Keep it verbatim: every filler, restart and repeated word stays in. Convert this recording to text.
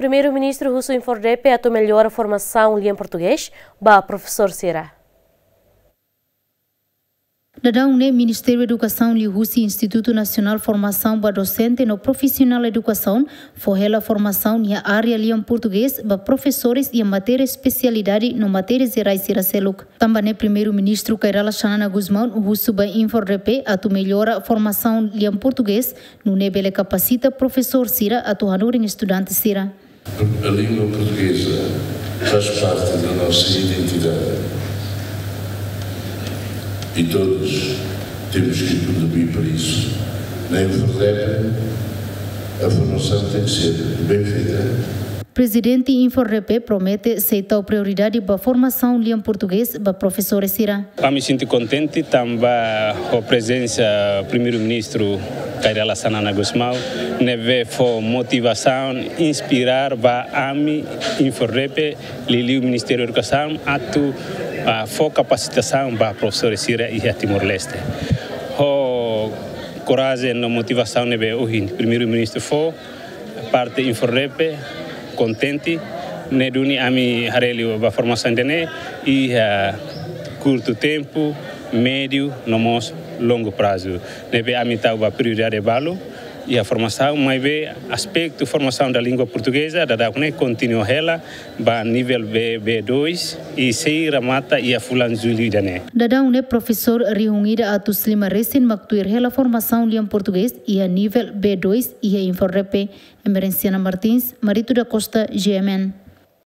Primeiru-Ministru husu INFORDEPE atu mellora formasaun lian portugés ba profesór sira. Daudaun ne'e Ministériu Edukasaun liuhusi Institutu Nasionál Formasaun ba Dosente no Profisionál Edukasaun fó hela formasaun iha área lian portugés ba profesores iha matéria espesialidade no matéria jerais sira seluk. Tanba ne'e Primeiru-Ministru Kay Rala Xanana Gusmão husu ba INFORDEPE atu mellora formasaun lian portugés, nune'e bele kapasita profesór sira atu hanorin estudante sira. A língua portuguesa faz parte da nossa identidade e todos temos que contribuir para isso. Na INFORDEPE, a formação tem que ser bem feita. Prezidente INFORDEPE promete sei tau prioridade ba formasaun lian portugés ba profesores sira. Ami sente kontente tanba ho prezensa Primeiru-Ministru Kay Rala Xanana Gusmão, ne'ebé fó motivasaun, inspira ba ami INFORDEPE, liuliu Ministériu Edukasaun, atu, ah, fó kapasitasaun ba profesores sira iha Timor-Leste. Ho korajen no motivasaun ne'ebé ohin Primeiru-Ministru fó, parte INFORDEPE kontente, ne'e duni ami haree liu ba formasaun ida-ne'e iha kurtu tempu, médiu, no mós longu prazu. Ne'ebé ami tau ba prioridade balu iha formasaun, maibé aspetu formasaun da língua portugeza, daudaun ne'e kontinua hela ba nivel B, B dois, i sei remata iha fulan Jullu ida-ne'e. Daudaun ne'e profesór rihun ida atus lima resin mak tuir hela formasaun lian portugés iha nivel B dois iha INFORDEPE. Emerenciana Martins, Marito da Costa, G M N.